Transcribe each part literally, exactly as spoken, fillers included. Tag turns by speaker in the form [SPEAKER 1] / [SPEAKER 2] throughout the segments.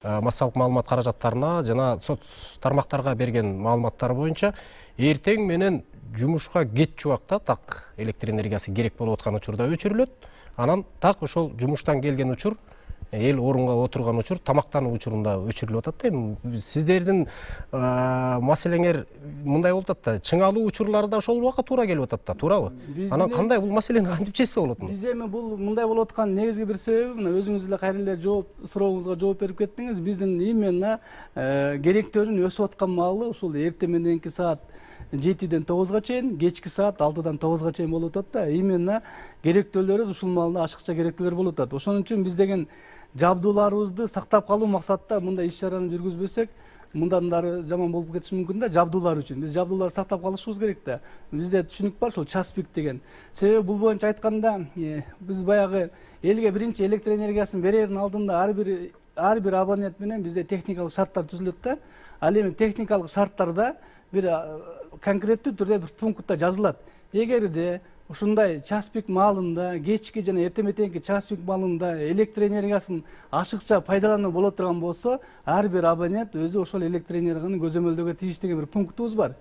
[SPEAKER 1] массалык маалымат каражаттарына жана соц тармактарга берген маалыматтар боюнча эртең менен жумушка кетчү убакта так электр энергиясы керек болуп аткан учурда өчүрүлөт. Анан так ошол жумуштан келген учур, эл орунга отурган учур, тамактануу учурунда өчүрүлүп атат. Эми сиздердин маселеңер мындай болуп атат да, чыңалуу учурлары да ошол убакка туура келип атат да, туурабы? Анан кандай бул маселени кантип чечсе болот?
[SPEAKER 2] Биз эми бул мындай болуп аткан негизги бир себеби мына өзүңүз эле кайра эле жооп сурооңузга жооп берип кеттиңиз. Биздин именно керектөөнүн өсүп аткан маалы ушул эртең мененки саат жетиден тогузга чейин, кечки саат алтыдан тогузга чейин болуп атат да. Именно керектөөлөрүбүз ушул маалда ашыкча керектөөлөр болуп атат. Ошон үчүн биз деген жабдууларыбызды сактап калуу максатта мындай иш чараны жүргүзбөсөк, мындан дары жаман болуп кетиши мүмкүн да. Жабдуулар үчүн биз жабдууларды сактап калышыбыз керек да. Бизде түшүнүк бар ушул час пик деген. Себеби бул боюнча айтканда биз баягы элге биринчи электр энергиясын берердин алдында ар бир ар бир абонент менен бизде техникалык шарттар түзүлөт да. Ал эми техникалык шарттарда бир конкреттүү түрдө бир пунктта жазылат. Эгерде ушундай час пик маалында, кечки жана эртең мененки час пик маалында электр энергиясын ашыкча пайдалануу боло турган болсо, ар бир абонент өзү ошол электр энергияны көзөмөлдөөгө тийиштүү деген бир пунктубуз бар.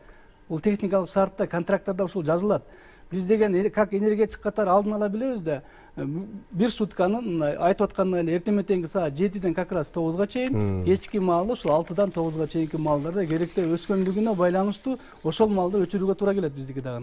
[SPEAKER 2] Бул техникалык шартта, контракттарда ушул жазылат. Биз деген как энергетик катары алдын ала билебиз да, бир сутканын айтып аткандай эле эртең мененки саат жетиден как раз тогузга чейин, кечки маалы ушул алтыдан тогузга чейинки маалдарда керектөө өскөндүгүнө байланыштуу ошол маалда өчүрүүгө туура келет биздики дагы.